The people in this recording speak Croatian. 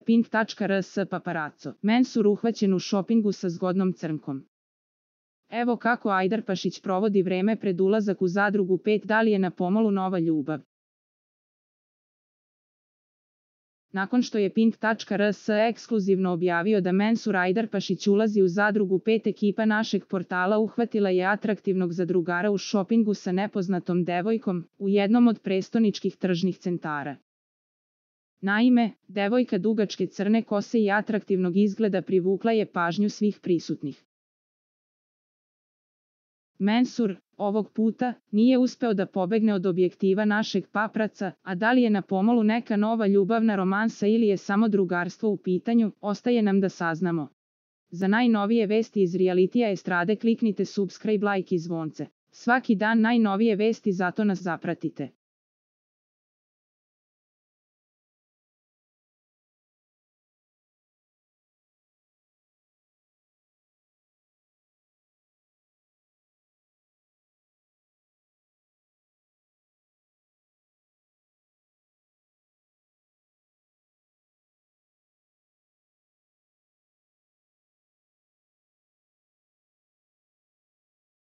Pink.rs paparazzo. Mensur uhvaćen u šopingu sa zgodnom crnkom. Evo kako Ajdarpašić provodi vreme pred ulazak u Zadrugu 5, da li je na pomolu nova ljubav. Nakon što je Pink.rs ekskluzivno objavio da Mensur Ajdarpašić ulazi u Zadrugu 5, ekipa našeg portala uhvatila je atraktivnog zadrugara u šopingu sa nepoznatom devojkom u jednom od prestoničkih tržnih centara. Naime, devojka dugačke crne kose i atraktivnog izgleda privukla je pažnju svih prisutnih. Mensur, ovog puta, nije uspeo da pobegne od objektiva našeg papraca, a da li je na pomolu neka nova ljubavna romansa ili je samo drugarstvo u pitanju, ostaje nam da saznamo. Za najnovije vesti iz realitija estrade kliknite subscribe, like i zvonce. Svaki dan najnovije vesti, zato nas zapratite.